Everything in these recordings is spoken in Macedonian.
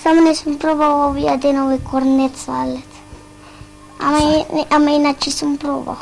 Само не сум пробал овие денови корнет салет. Ама иначе сум пробал.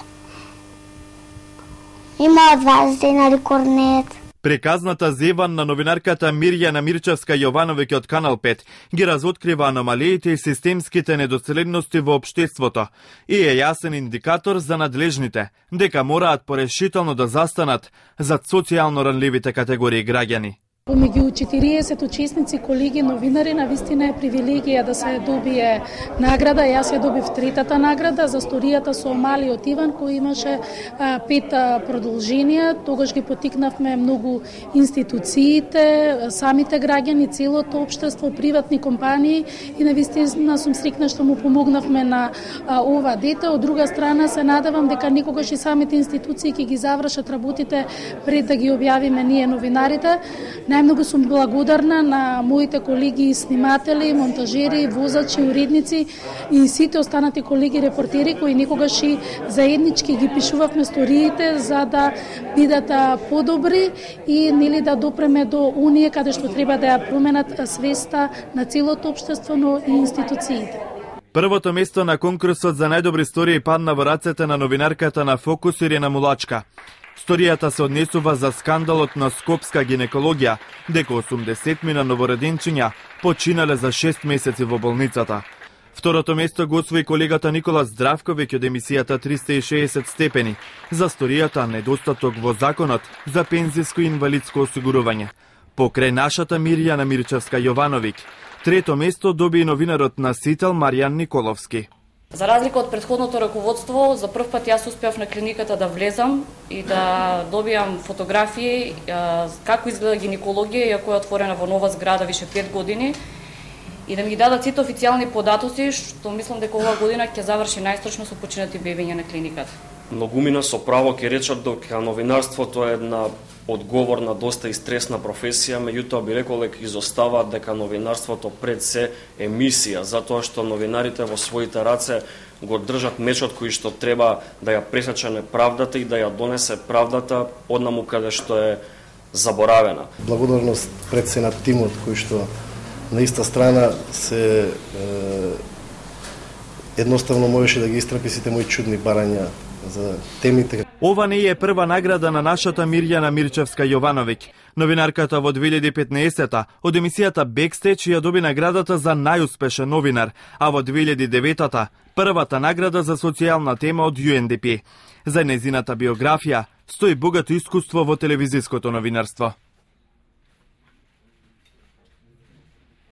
Има 20 денари корнет. Преказната зеван на новинарката Мирјана Мирчевска-Јовановиќ од Канал 5 ги разоткрива аномалиите и системските недоцеледности во општеството и е јасен индикатор за надлежните дека мораат порешително да застанат зад социјално ранливите категории граѓани. Помеѓу 40 учесници, колеги новинари, навистина е привилегија да се добие награда. Јас ја добив третата награда за сторијата со малиот Иван, кој имаше 5 продолженија. Тогаш ги потикнавме многу институциите, самите граѓани, целото општество, приватни компании и навистина сум срекна што му помогнавме на ова дете. Од друга страна се надевам дека никогаш и самите институции ќе ги завршат работите пред да ги објавиме ние новинарите. Најмногу сум благодарна на моите колеги сниматели, монтажери, возачи, уредници и сите останати колеги репортери кои некогаш и заеднички ги пишувавме сториите за да бидат подобри и нели да допреме до оние каде што треба да ја променат свеста на целото општество, но и институциите. Првото место на конкурсот за најдобри стории падна во рацете на новинарката на Фокус Ирина Мулачка. Сторијата се однесува за скандалот на скопска гинекологија, дека 80 новороденчиња починале за 6 месеци во болницата. Второто место го освои колегата Никола Здравковиќ од емисијата 360 степени за сторијата недостаток во законот за пензиско и инвалидско осигурување. Покрај нашата Мирјана Мирчевска-Јовановиќ, трето место доби и новинарот на Сител Маријан Николовски. За разлика од претходното раководство, за прв пат јас успеав на клиниката да влезам и да добијам фотографии како изгледа гинекологија, иако е отворена во нова зграда више 5 години, и да ми ги дадат сите официјални податоци, што мислам дека оваа година ќе заврши најстрашно со починати бебиња на клиниката. Многумина со право ќе речат дека новинарството е една одговорна, доста и стресна професија, меѓутоа би рекол дека изостава дека новинарството пред се емисија, затоа што новинарите во своите раце го држат мечот кој што треба да ја пресече неправдата и да ја донесе правдата однаму каде што е заборавена. Благодарност пред се на тимот кој што на иста страна се едноставно можеше да ги истрпи сите мои чудни барања за темите. Ова не е прва награда на нашата Мирјана Мирчевска-Јовановиќ. Новинарката во 2015-та од емисијата Бекстејдж ја доби наградата за најуспешен новинар, а во 2009-та првата награда за социјална тема од UNDP. За незината биографија стои богато искуство во телевизиското новинарство.